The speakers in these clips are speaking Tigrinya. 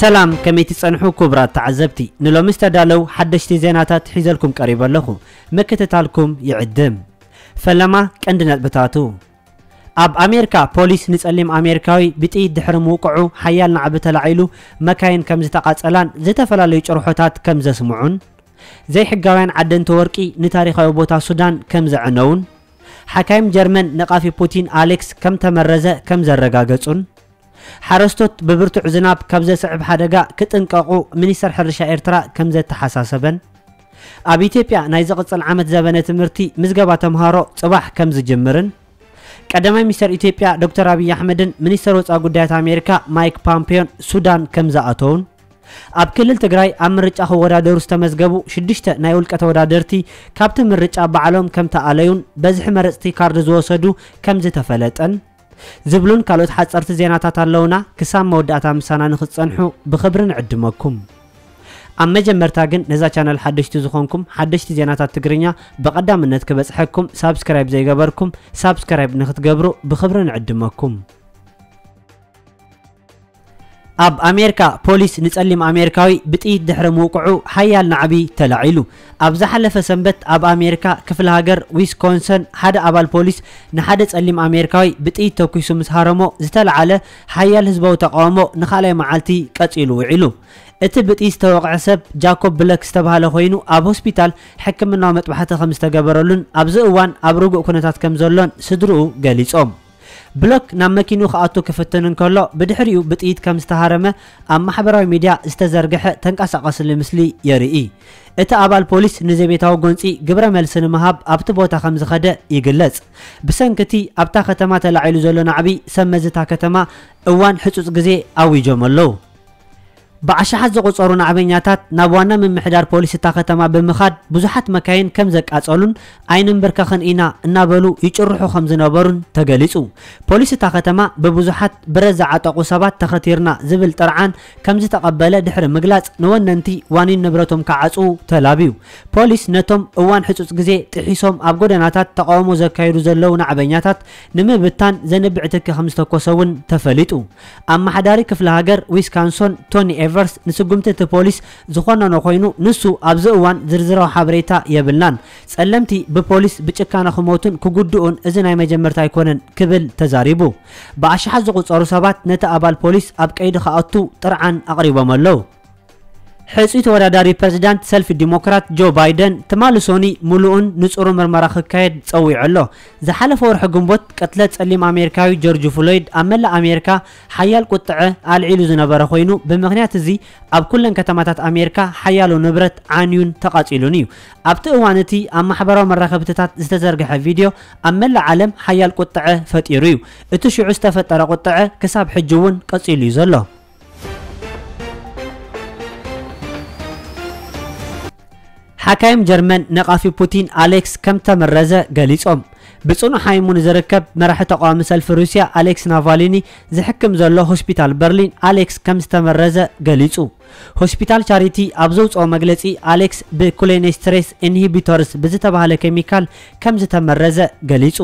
ሰላም፣ ከመይ ትጸንሑ ክቡራት ተዓዘብቲ? ንሎሚ ዝተዳለው ሓደሽቲ ዜናታት ሒዘልኩም ቀሪበ ኣለኹ። ምክትታልኩም ይዕድም። ፈለማ ቀንዲ ነጥብታቱ። ኣብ ኣሜሪካ ፖሊስ ንጸሊም ኣሜሪካዊ ብጥይት ድሕሪ ምውቅዑ ሓያል ናዕቢ ተላዒሉ፣ መካይን ከም ዝተቓጸላን ዝተፈላለዩ ጭርሖታት ከም ዘስምዑን፣ ዘይሕጋውያን ዓደንቲ ወርቂ ንታሪኻዊ ቦታ ሱዳን ከም ዘዕነውን፣ ሓካይም ጀርመን ነቓፊ ፑቲን ኣሌክስ ከም ተመረዘ ከም ዘረጋገጹን፣ ሓረስቶት ብብርቱዕ ዝናብ ካብ ዘስዕብ ሓደጋ ክጥንቀቑ ሚኒስተር ሕርሻ ኤርትራ ከም ዘተሓሳሰበን፣ ኣብ ኢትዮጵያ ናይ ዝቕጽል ዓመት ዘበነ ትምህርቲ ምዝገባ ተምሃሮ ጽባሕ ከም ዝጅምርን፣ ቀዳማይ ሚኒስተር ኢትዮጵያ ዶክተር ኣብይ ኣሕመድን ሚኒስተር ወጻኢ ጉዳያት ኣሜሪካ ማይክ ፓምፔዮን ሱዳን ከም ዝኣተውን፣ ኣብ ክልል ትግራይ ኣብ ምርጫ ክወዳደሩ ዝተመዝገቡ ሽዱሽተ ናይ ውልቀ ተወዳደርቲ ካብቲ ምርጫ ባዕሎም ከም ተኣለዩን በዝሒ መረጽቲ ካርድ ዝወሰዱ ከም ዝተፈለጠን ዝብሉን ካልኦት ሓጸርቲ ዜናታት ኣለውና። ክሳብ መወዳእታ ምሳና ንክትጸንሑ ብኽብሪ ንዕድመኩም። ኣብ መጀመርታ ግን ነዛ ቻነል ሓደሽቲ ዝኾንኩም፣ ሓደሽቲ ዜናታት ትግርኛ ብቐዳምነት ክበጽሐኩም ሳብስክራይብ ዘይገበርኩም ሳብስክራይብ ንክትገብሩ ብኽብሪ ንዕድመኩም። ኣብ ኣሜሪካ ፖሊስ ንጸሊም ኣሜሪካዊ ብጥይት ድሕሪ ምውቅዑ ሓያል ናዕቢ ተላዒሉ። ኣብ ዝሓለፈ ሰንበት ኣብ ኣሜሪካ ክፍለ ሃገር ዊስኮንሰን ሓደ ኣባል ፖሊስ ንሓደ ጸሊም ኣሜሪካዊ ብጥይት ተኩሱ ምስ ሃረሞ ዝተላዓለ ሓያል ህዝባዊ ተቃውሞ ንኻልኣይ መዓልቲ ቀጺሉ ውዒሉ። እቲ ብጥይት ዝተወቕዐ ሰብ ጃኮብ ብለክ ዝተባህለ ኮይኑ ኣብ ሆስፒታል ሕክምናዊ መጥባሕቲ ከም ዝተገበረሉን ኣብዚ እዋን ኣብ ርጉእ ኩነታት ከም ዘሎን ስድርኡ ገሊጾም። ብሎክ ናብ መኪንኡ ክኣቱ ክፍትን እንከሎ ብድሕሪኡ ብጥይት ከም ዝተሃረመ ኣብ ማሕበራዊ ሚድያ ዝተዘርግሐ ተንቀሳቐስሊ ምስሊ የርኢ። እቲ ኣባል ፖሊስ ንዘቤታዊ ጎንጺ ግብረ መልሲ ንምሃብ ኣብቲ ቦታ ከም ዝኸደ ይግለጽ። ብሰንኪ እቲ ኣብታ ከተማ ተላዒሉ ዘሎ ናዕቢ ሰብ መዚ እታ ከተማ እዋን ሕጹጽ ግዜ ኣዊጆም ኣለዉ። ብኣሽሓት ዝቑጸሩ ናዕበኛታት ናብ ዋና ምምሕዳር ፖሊስ እታ ከተማ ብምኻድ ብዙሓት መካይን ከም ዘቃጸሉን ኣይንንብርከኽን ኢና እናበሉ ይጭርሑ ከም ዝነበሩን ተገሊጹ። ፖሊስ እታ ከተማ ብብዙሓት ብረት ዝዓጠቑ ሰባት ተኸቲርና ዝብል ጥርዓን ከም ዝተቐበለ ድሕሪ ምግላጽ ንወነንቲ ዋኒን ንብረቶም ክዓጽዉ ተላብዩ። ፖሊስ ነቶም እዋን ሕጹጽ ግዜ ጥሒሶም ኣብ ጎደናታት ተቃውሞ ዘካይዱ ዘለዉ ናዕበኛታት ንምብታን ዘንብዕ ትኪ ከም ዝተኮሰ እውን ተፈሊጡ። ኣመሓዳሪ ክፍለ ሃገር ዊስካንሶን ቶኒ ኤቨርስ ንስጉምቲ እቲ ፖሊስ ዝኾነኖ ኮይኑ ንሱ ኣብዚ እዋን ዝርዝራዊ ሓበሬታ የብልናን። ጸለምቲ ብፖሊስ ብጭካነ ክሞቱን ክጉድኡን እዚ ናይ መጀመርታ ኣይኮነን ክብል ተዛሪቡ። ብኣሽሓት ዝቑጸሩ ሰባት ነቲ ኣባል ፖሊስ ኣብ ቀይዲ ክኣቱ ጥርዓን ኣቕሪቦም ኣለዉ። ሕጹይ ተወዳዳሪ ፕረዚዳንት ሰልፊ ዲሞክራት ጆ ባይደን ትማሊ ሶኒ ምሉእን ንጹሩ ምርመራ ክካየድ ጸዊዑ ኣሎ። ዝሓለፈ ወርሒ ግንቦት ቅትለት ጸሊም ኣሜሪካዊ ጆርጅ ፍሎይድ ኣብ መላእ ኣሜሪካ ሓያል ቁጥዐ ኣልዒሉ ዝነበረ ኮይኑ ብምኽንያት እዚ ኣብ ኩለን ከተማታት ኣሜሪካ ሓያሎ ንብረት ዓንዩን ተቓጺሉን እዩ። ኣብቲ እዋን እቲ ኣብ ማሕበራዊ መራኸብትታት ዝተዘርግሐ ቪድዮ ኣብ መላእ ዓለም ሓያል ቁጥዐ ፈጢሩ እዩ። እቲ ሽዑ ዝተፈጠረ ቁጥዐ ክሳብ ሕጂ እውን ቀጺሉ እዩ ዘሎ። ሓካይም ጀርመን ነቓፊ ፑቲን ኣሌክስ ከም ተመረዘ ገሊጾም። ብጽኑዕ ሓይሙ ንዝርከብ መራሒ ተቃዋሚ ሰልፊ ሩስያ ኣሌክስ ናቫሊኒ ዝሕክም ዘሎ ሆስፒታል በርሊን ኣሌክስ ከም ዝተመረዘ ገሊጹ። ሆስፒታል ቻሪቲ ኣብ ዘውጽኦ መግለጺ ኣሌክስ ብኩሌኔስትሬስ ኢንሂቢቶርስ ብዝተባህለ ኬሚካል ከም ዝተመረዘ ገሊጹ።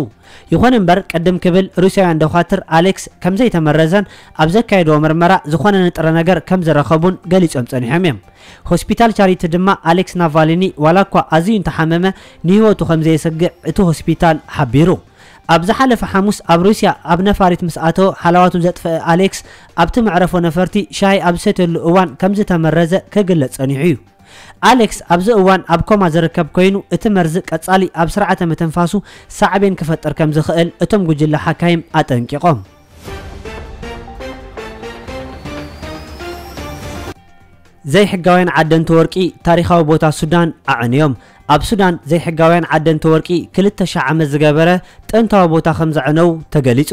ይኹን እምበር ቅድም ክብል ሩስያውያን ዶኻትር ኣሌክስ ከም ዘይተመረዘን ኣብ ዘካየድዎ ምርመራ ዝኾነ ንጥረ ነገር ከም ዝረኸቡን ገሊጾም ጸኒሖም እዮም። ሆስፒታል ቻሪቲ ድማ ኣሌክስ ናቫሊኒ ዋላ እኳ ኣዝዩ እንተሓመመ ንህይወቱ ከም ዘየሰግእ እቲ ሆስፒታል ሓቢሩ። ኣብ ዝሓለፈ ሓሙስ ኣብ ሩስያ ኣብ ነፋሪት ምስ ኣተወ ሓለዋቱ ዘጥፈአ ኣሌክስ ኣብቲ መዕረፎ ነፈርቲ ሻሂ ኣብ ዝሰትየሉ እዋን ከም ዝተመረዘ ክግለጽ ጸኒሑ እዩ። ኣሌክስ ኣብዚ እዋን ኣብ ኮማ ዝርከብ ኮይኑ እቲ መርዚ ቀጻሊ ኣብ ስርዓተ ምትንፋሱ ሳዕቤን ክፈጥር ከም ዝኽእል እቶም ጉጅለ ሓካይም ኣጠንቂቖም። ዘይሕጋውያን ዓደንቲ ወርቂ ታሪኻዊ ቦታ ሱዳን ኣዕንዮም። ኣብ ሱዳን ዘይሕጋውያን ዓደንቲ ወርቂ ክልተ ሺሕ ዓመት ዝገበረ ጥንታዊ ቦታ ከም ዘዕነው ተገሊጹ።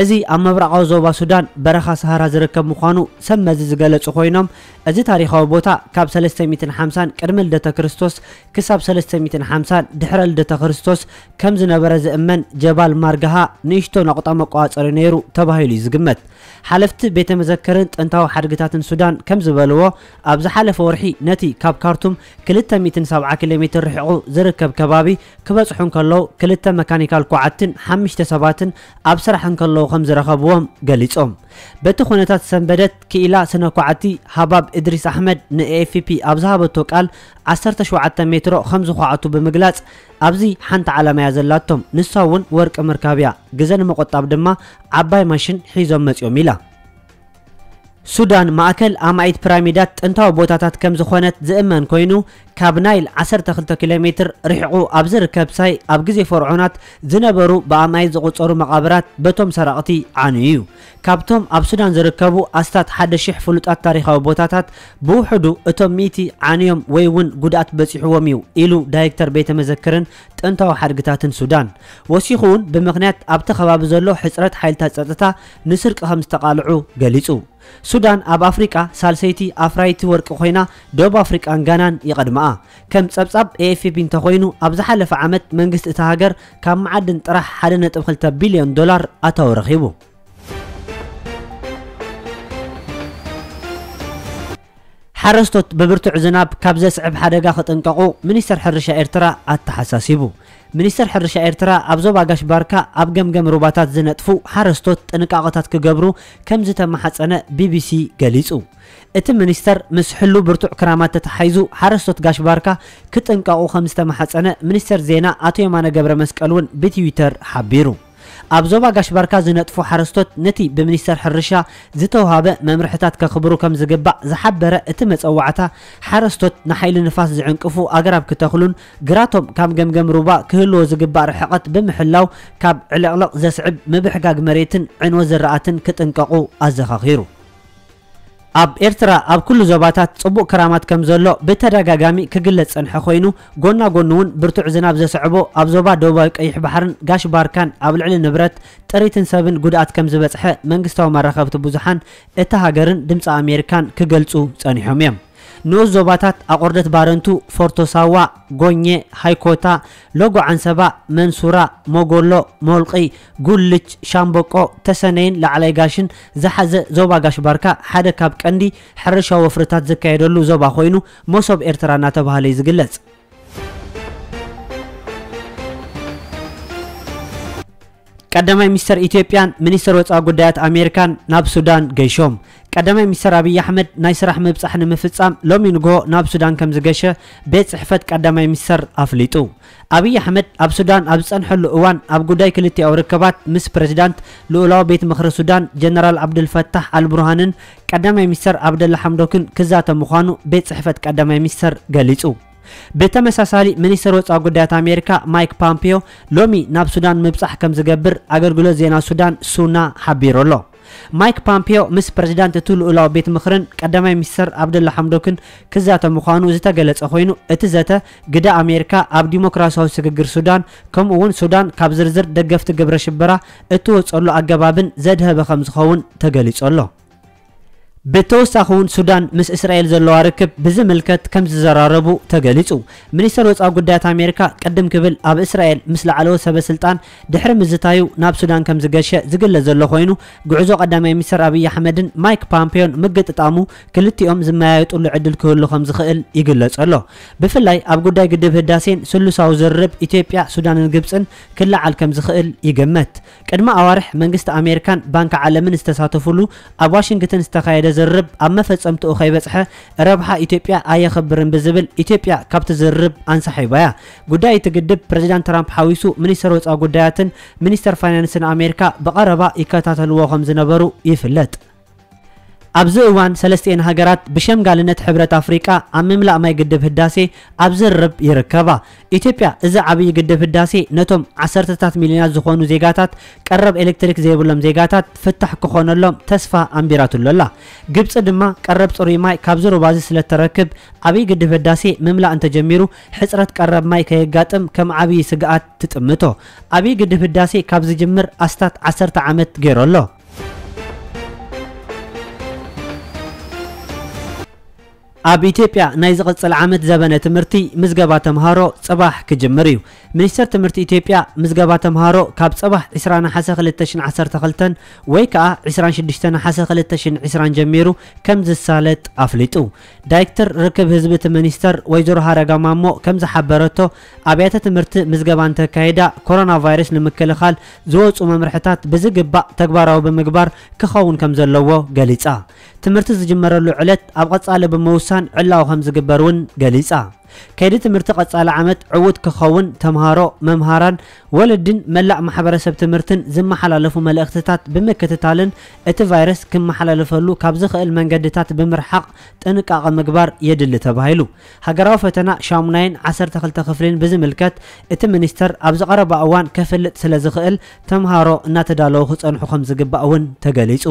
እዚ ኣብ ምብራቓዊ ዞባ ሱዳን በረኻ ሰሃራ ዝርከብ ምዃኑ ሰብ መዚ ዝገለጹ ኮይኖም፣ እዚ ታሪኻዊ ቦታ ካብ ሰለስተ ሚእትን ሓምሳን ቅድሚ ልደተ ክርስቶስ ክሳብ ሰለስተ ሚእትን ሓምሳን ድሕረ ልደተ ክርስቶስ ከም ዝነበረ ዝእመን ጀባል ማርጋሃ ንእሽቶ ነቑጣ መቋጸሪ ነይሩ ተባሂሉ እዩ ዝግመት። ሓለፍቲ ቤተ መዘክርን ጥንታዊ ሓድግታትን ሱዳን ከም ዝበልዎ፣ ኣብ ዝሓለፈ ወርሒ ነቲ ካብ ካርቱም ክልተ ሚእትን ሰብዓ ኪሎ ሜትር ርሒቑ ዝርከብ ከባቢ ክበጽሑ እንከለዉ፣ ክልተ መካኒካል ኳዕትን ሓሙሽተ ሰባትን ኣብ ስራሕ እንከለዉ ከም ዝረኸብዎም ገሊጾም። በቲ ኩነታት ሰንበደት ክኢላ ስነ ኳዕቲ ሃባብ እድሪስ ኣሕመድ ንኤኤፍፒ ኣብ ዝሃበቶ ቃል፣ ዓሰርተ ሸውዓተ ሜትሮ ከም ዝኳዕቱ ብምግላጽ፣ ኣብዚ ሓንቲ ዓላማ እያ ዘላቶም፣ ንሳ እውን ወርቂ ምርካብ እያ፣ ግዘ ንምቑጣብ ድማ ዓባይ ማሽን ሒዞም መጺኦም ኢላ። ሱዳን ማእከል ኣማኢት ፒራሚዳት ጥንታዊ ቦታታት ከም ዝኾነት ዝእመን ኮይኑ፣ ካብ ናይል ዓሰርተ ክልተ ኪሎ ሜትር ርሒቑ ኣብ ዝርከብ ሳይ፣ ኣብ ግዜ ፈርዖናት ዝነበሩ ብኣማኢት ዝቑጸሩ መቓብራት በቶም ሰረቕቲ ዓንዩ እዩ። ካብቶም ኣብ ሱዳን ዝርከቡ ኣስታት ሓደ ሺሕ ፍሉጣት ታሪኻዊ ቦታታት፣ ብውሕዱ እቶም ሚእቲ ዓንዮም ወይ እውን ጉድኣት በጺሕዎም እዩ ኢሉ ዳይሬክተር ቤተ መዘክርን ጥንታዊ ሓድግታትን ሱዳን። ወሲኹ እውን ብምኽንያት ኣብቲ ከባቢ ዘሎ ሕጽረት ሓይልታት ጸጥታ ንስርቂ ከም ዝተቓልዑ ገሊጹ። ሱዳን ኣብ ኣፍሪቃ ሳልሰይቲ ኣፍራይቲ ወርቂ ኮይና፣ ደቡብ ኣፍሪቃን ጋናን ይቐድመኣ። ከም ጸብጻብ ኤኤፍፒ እንተኾይኑ፣ ኣብ ዝሓለፈ ዓመት መንግስቲ እታ ሃገር ካብ መዓድን ጥራሕ ሓደ ነጥቢ ክልተ ቢልዮን ዶላር ኣታዊ ረኺቡ። ሓረስቶት ብብርቱዕ ዝናብ ካብ ዘስዕብ ሓደጋ ክጥንቀቑ ሚኒስተር ሕርሻ ኤርትራ ኣተሓሳሲቡ። ሚኒስተር ሕርሻ ኤርትራ ኣብ ዞባ ጋሽ ባርካ ኣብ ገምገም ሩባታት ዝነጥፉ ሓረስቶት ጥንቃቐታት ክገብሩ ከም ዝተመሓጸነ ቢቢሲ ገሊጹ። እቲ ሚኒስተር ምስ ሕሉ ብርቱዕ ክራማት ተተሓሒዙ ሓረስቶት ጋሽ ባርካ ክጥንቀቑ ከም ዝተመሓጸነ ሚኒስተር ዜና ኣቶ የማነ ገብረ መስቀል እውን ብትዊተር ሓቢሩ። ኣብ ዞባ ጋሽ ባርካ ዝነጥፉ ሓረስቶት ነቲ ብሚኒስተር ሕርሻ ዝተውሃበ መምርሕታት ከኽብሩ ከም ዝግባእ ዝሓበረ እቲ መጸዋዕታ፣ ሓረስቶት ንሓይሊ ንፋስ ዝዕንቅፉ ኣግራብ ክተኽሉን ግራቶም ካብ ገምገም ሩባ ክህልዎ ዝግባእ ርሕቐት ብምሕላው ካብ ዕልቕልቕ ዘስዕብ ምብሕጋግ መሬትን ዕንወት ዝራእትን ክጥንቀቑ ኣዘኻኺሩ። ኣብ ኤርትራ ኣብ ኩሉ ዞባታት ጽቡቕ ክራማት ከም ዘሎ ብተደጋጋሚ ክግለጽ ጸንሐ ኮይኑ፣ ጎና ጎኑ እውን ብርቱዕ ዝናብ ዘስዕቦ ኣብ ዞባ ደቡባዊ ቀይሕ ባሕርን ጋሽ ባርካን ኣብ ልዕሊ ንብረት፣ ጥሪትን ሰብን ጉድኣት ከም ዝበጽሐ መንግስታዊ መራኸብቲ ብዙሓን እታ ሃገርን ድምጺ ኣሜሪካን ክገልጹ ጸኒሖም እዮም። ንኡስ ዞባታት ኣቑርደት ባረንቱ፣ ፎርቶ ሳዋ፣ ጎኘ፣ ሃይኮታ፣ ሎጎ ዓንሰባ፣ መንሱራ፣ ሞጎሎ፣ ሞልቒ፣ ጉልች፣ ሻምበቆ፣ ተሰነይን ላዕላይ ጋሽን ዝሓዘ ዞባ ጋሽ ባርካ ሓደ ካብ ቀንዲ ሕርሻዊ ወፍርታት ዝካየደሉ ዞባ ኮይኑ፣ መሶብ ኤርትራ እናተባህለ እዩ ዝግለጽ። ቀዳማይ ሚኒስተር ኢትዮጵያን ሚኒስተር ወጻኢ ጉዳያት ኣሜሪካን ናብ ሱዳን ገይሾም። ቀዳማይ ሚኒስተር ኣብይ ኣሕመድ ናይ ስራሕ ምብጻሕ ንምፍጻም ሎሚ ንግሆ ናብ ሱዳን ከም ዝገሸ ቤት ጽሕፈት ቀዳማይ ሚኒስተር ኣፍሊጡ። ኣብይ ኣሕመድ ኣብ ሱዳን ኣብ ዝጸንሐሉ እዋን ኣብ ጉዳይ ክልቲኣዊ ርክባት ምስ ፕሬዚዳንት ልኡላዊ ቤት ምኽሪ ሱዳን ጀነራል ዓብዱልፈታሕ ኣልቡርሃንን ቀዳማይ ሚኒስተር ዓብደላ ሓምዶክን ክዛተ ምዃኑ ቤት ጽሕፈት ቀዳማይ ሚኒስተር ገሊጹ። ብተመሳሳሊ፣ ሚኒስተር ወጻኢ ጉዳያት ኣሜሪካ ማይክ ፓምፒዮ ሎሚ ናብ ሱዳን ምብጻሕ ከም ዝገብር ኣገልግሎት ዜና ሱዳን ሱና ሓቢሩ ኣሎ። ማይክ ፓምፒዮ ምስ ፕሬዚዳንት እቲ ልኡላዊ ቤት ምኽርን ቀዳማይ ሚኒስተር ዓብደላ ሓምዶክን ክዛተ ምዃኑ ዝተገለጸ ኮይኑ፣ እቲ ዘተ ግደ ኣሜሪካ ኣብ ዲሞክራሲያዊ ስግግር ሱዳን፣ ከምኡ እውን ሱዳን ካብ ዝርዝር ደገፍቲ ግብረ ሽበራ እትወጸሉ ኣገባብን ዘድሀበ ከም ዝኸውን ተገሊጹ ኣሎ። ብተወሳኺ እውን ሱዳን ምስ እስራኤል ዘለዋ ርክብ ብዝምልከት ከም ዝዘራረቡ ተገሊጹ። ሚኒስተር ወጻኢ ጉዳያት ኣሜሪካ ቅድም ክብል ኣብ እስራኤል ምስ ላዕለዎት ሰበ ስልጣን ድሕሪ ምዝታዩ ናብ ሱዳን ከም ዝገሸ ዝግለጽ ዘሎ ኮይኑ፣ ጉዕዞ ቀዳማይ ሚኒስተር ኣብይ ኣሕመድን ማይክ ፓምፔዮን ምግጥጣሙ ክልቲኦም ዝመያየጡሉ ዕድል ክህሉ ከም ዝኽእል ይግለጽ ኣሎ። ብፍላይ ኣብ ጉዳይ ግድብ ህዳሴን ስሉሳዊ ዝርርብ ኢትዮጵያ፣ ሱዳንን ግብጽን ክለዓል ከም ዝኽእል ይግመት። ቅድሚ ኣዋርሕ መንግስቲ ኣሜሪካን ባንኪ ዓለምን ዝተሳተፉሉ ኣብ ዋሽንግተን ዝተኻየደ ዝርርብ ኣብ መፈጸምትኡ ከይበጽሐ ረብሓ ኢትዮጵያ ኣየኸብርን ብዝብል ኢትዮጵያ ካብቲ ዝርርብ ኣንሳሒባ እያ። ጉዳይ እቲ ግድብ ፕሬዚዳንት ትራምፕ ሓዊሱ ሚኒስተር ወጻኢ ጉዳያትን ሚኒስተር ፋይናንስን ኣሜሪካ ብቐረባ ይከታተልዎ ከም ዝነበሩ ይፍለጥ። ኣብዚ እዋን ሰለስቲኤን ሃገራት ብሸምጋልነት ሕብረት ኣፍሪቃ ኣብ ምምላእ ማይ ግድብ ህዳሴ ኣብ ዝርርብ ይርከባ። ኢትዮጵያ እዚ ዓብዪ ግድብ ህዳሴ ነቶም ዓሰርተታት ሚልዮናት ዝኾኑ ዜጋታት ቀረብ ኤሌክትሪክ ዘይብሎም ዜጋታት ፍታሕ ክኾነሎም ተስፋ ኣንቢራትሉ ኣላ። ግብፂ ድማ ቀረብ ፅሩይ ማይ ካብዚ ሩባ እዚ ስለተረክብ ዓብዪ ግድብ ህዳሴ ምምላእ እንተጀሚሩ ሕፅረት ቀረብ ማይ ከየጋጥም ከም ዓብዪ ስግኣት ትጥምቶ። ዓብዪ ግድብ ህዳሴ ካብ ዝጅምር ኣስታት ዓሰርተ ዓመት ገይሩ ኣሎ። ኣብ ኢትዮጵያ ናይ ዝቕጽል ዓመት ዘበነ ትምህርቲ ምዝገባ ተምሃሮ ጽባሕ ክጅምር እዩ። ሚኒስተር ትምህርቲ ኢትዮጵያ ምዝገባ ተምሃሮ ካብ ጽባሕ ዕስራ ነሓሰ ክልተ ሽሕን ዓሰርተ ክልተን ወይ ከኣ ዕስራን ሽዱሽተ ነሓሰ ክልተ ሽሕን ዕስራን ጀሚሩ ከም ዝሳለጥ ኣፍሊጡ። ዳይሬክተር ርክብ ህዝቢ እቲ ሚኒስተር ወይዘሮ ሃረጋ ማሞ ከም ዝሓበረቶ ኣብያተ ትምህርቲ ምዝገባ እንተካይዳ ኮሮና ቫይረስ ንምክልኻል ዝወጹ መምርሕታት ብዝግባእ ተግባራዊ ብምግባር ክኸውን ከም ዘለዎ ገሊጻ። ትምህርቲ ዝጅመረሉ ዕለት ኣብ ቀጻሊ ብምውሳን ዕላዊ ከም ዝግበር እውን ገሊጻ። ከይዲ ትምህርቲ ቀጻሊ ዓመት ዕዉት ክኸውን ተምሃሮ፣ መምሃራን፣ ወለድን መላእ ማሕበረሰብ ትምህርትን ዝመሓላለፉ መልእኽትታት ብምክትታልን እቲ ቫይረስ ክመሓላለፈሉ ካብ ዝኽእል መንገድታት ብምርሓቕ ጥንቃቐ ምግባር የድሊ ተባሂሉ። ሃገራዊ ፈተና ሻሙናይን ዓሰርተ ክልተ ክፍልን ብዝምልከት እቲ ሚኒስተር ኣብ ዝቐረባ እዋን ከፍልጥ ስለ ዝኽእል ተምሃሮ እናተዳለዉ ክጸንሑ ከም ዝግባእ እውን ተገሊጹ።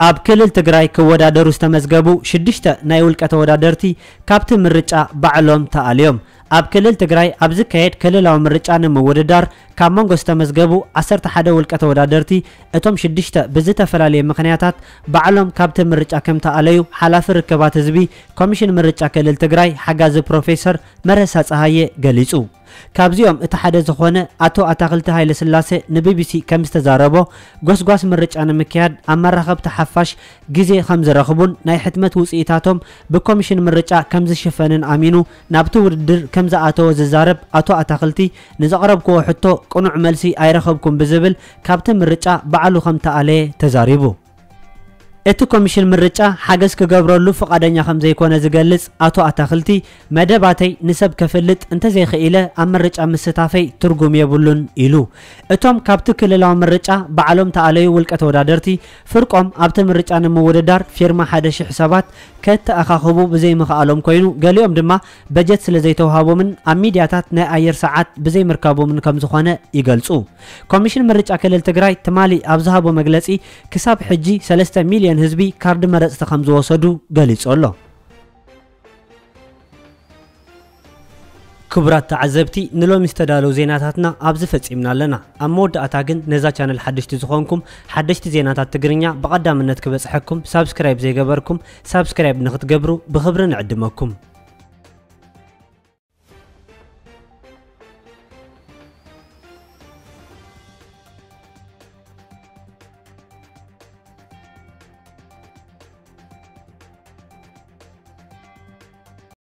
ኣብ ክልል ትግራይ ክወዳደሩ ዝተመዝገቡ ሽዱሽተ ናይ ውልቀ ተወዳደርቲ ካብቲ ምርጫ ባዕሎም ተኣልዮም። ኣብ ክልል ትግራይ ኣብ ዝካየድ ክልላዊ ምርጫ ንምውድዳር ካብ መንጎ ዝተመዝገቡ ዓሰርተ ሓደ ውልቀ ተወዳደርቲ እቶም ሽዱሽተ ብዝተፈላለየ ምኽንያታት ባዕሎም ካብቲ ምርጫ ከም ተኣለዩ ሓላፊ ርክባት ህዝቢ ኮሚሽን ምርጫ ክልል ትግራይ ሓጋዚ ፕሮፌሰር መረሳ ጸሃየ ገሊጹ። ካብዚኦም እቲ ሓደ ዝኾነ ኣቶ ኣታኽልቲ ሃይለስላሴ ንቢቢሲ ከም ዝተዛረቦ፣ ጎስጓስ ምርጫ ንምክያድ ኣብ መራኸብቲ ሓፋሽ ግዜ ከም ዝረኽቡን ናይ ሕትመት ውጽኢታቶም ብኮሚሽን ምርጫ ከም ዝሽፈንን ኣሚኑ ናብቲ ውድድር ከም ዝኣተወ ዝዛረብ ኣቶ ኣታኽልቲ፣ ንዘቕረብክዎ ሕቶ ቅኑዕ መልሲ ኣይረኸብኩን ብዝብል ካብቲ ምርጫ ባዕሉ ከም ተኣለየ ተዛሪቡ። እቲ ኮሚሽን ምርጫ ሓገዝ ክገብረሉ ፍቓደኛ ከም ዘይኮነ ዝገልጽ ኣቶ ኣታኽልቲ፣ መደባተይ ንሰብ ከፍልጥ እንተዘይኽኢለ ኣብ ምርጫ ምስታፈይ ትርጉም የብሉን ኢሉ። እቶም ካብቲ ክልላዊ ምርጫ ባዕሎም ተኣለዩ ውልቀ ተወዳደርቲ ፍርቆም ኣብቲ ምርጫ ንምውድዳር ፊርማ ሓደ ሽሕ ሰባት ከተኣኻኽቡ ብዘይምኽኣሎም ኮይኑ፣ ገሊኦም ድማ በጀት ስለ ዘይተውሃቦምን ኣብ ሚድያታት ናይ ኣየር ሰዓት ብዘይምርካቦምን ከም ዝኾነ ይገልጹ። ኮሚሽን ምርጫ ክልል ትግራይ ትማሊ ኣብ ዝሃቦ መግለጺ፣ ክሳብ ሕጂ ሰለስተ ሚልዮን ህዝቢ ካርዲ መረጽቲ ከም ዝወሰዱ ገሊጹ ኣሎ። ክቡራት ተዓዘብቲ፣ ንሎሚ ዝተዳለዉ ዜናታትና ኣብዚ ፈጺምና ኣለና። ኣብ መወዳእታ ግን ነዛ ቻነል ሓደሽቲ ዝኾንኩም፣ ሓደሽቲ ዜናታት ትግርኛ ብቐዳምነት ክበጽሐኩም ሳብስክራይብ ዘይገበርኩም ሳብስክራይብ ንኽትገብሩ ብኽብሪ ንዕድመኩም።